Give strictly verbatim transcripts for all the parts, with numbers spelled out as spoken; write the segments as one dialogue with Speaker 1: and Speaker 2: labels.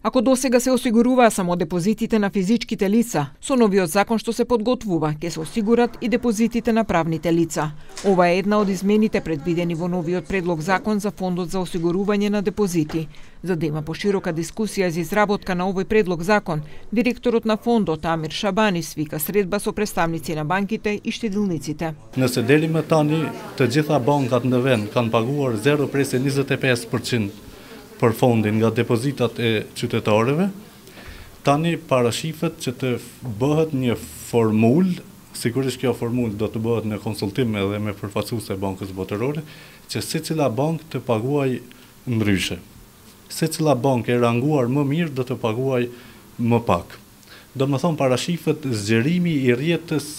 Speaker 1: Ако досега се осигуруваа само депозитите на физичките лица, со новиот закон што се подготвува, ќе се осигурат и депозитите на правните лица. Ова е една од измените предвидени во новиот предлог закон за фондот за осигурување на депозити. За да има поширока дискусија за изработка на овој предлог закон, директорот на фондот Амир Шабани свика средба со представници на банките и штедилниците.
Speaker 2: Nëse deri më tani të gjitha bankat në vend kanë paguar zero presë njëzet e pesë përqind për fondin nga depozitat e qytetarëve, tani parashifet që të bëhet një formulë, sigurisht kjo formulë do të bëhet në konsultim edhe me përfaqësues e Bankës Botërore, që secila bankë të paguaj ndryshe. Secila bankë e ranguar më mirë do të paguaj më pak. Do më thonë parashifet zgjerimi i rrjetës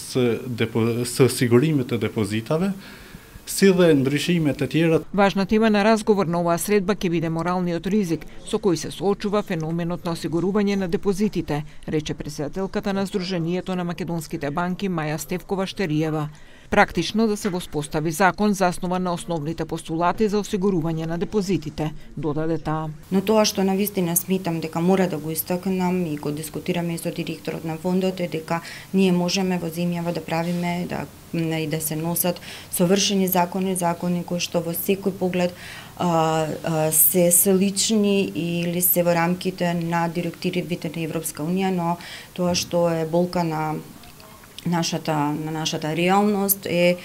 Speaker 2: së sigurimit të depozitave, si dhe ndryshimet e tjera.
Speaker 1: Важна тема на разговор на оваа средба ќе биде моралниот ризик со кој се соочува феноменот на осигурување на депозитите, рече претседателката на Сдруженијето на македонските банки Маја Стевкова-Штериева. Практично да се воспостави закон заснуван на основните постулати за осигурување на депозитите, додаде таа.
Speaker 3: Но тоа што навистина смитам дека мора да го истакнам и го дискутираме и со директорот на фондот е дека ние можеме во земјава да правиме да и да се носат совршени закони, закони кои што во секој поглед а, а, се слични или се во рамките на директивите на Европска унија, но тоа што е болка на нашата на нашата реалност е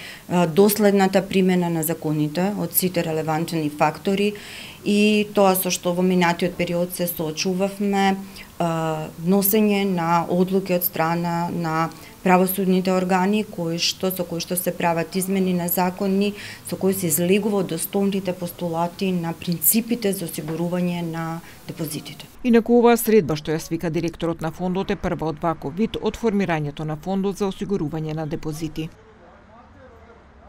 Speaker 3: доследната примена на законите од сите релевантни фактори и тоа со што во минатиот период се соочувавме носење на одлуки од страна на правосудните органи кои што со кои што се прават измени на закони со кои се излегува од основните постулати на принципите за осигурување на депозитите.
Speaker 1: Инаку оваа средба што ја свика директорот на фондот е прва од ваков вид од формирањето на фондот за осигурување на депозити.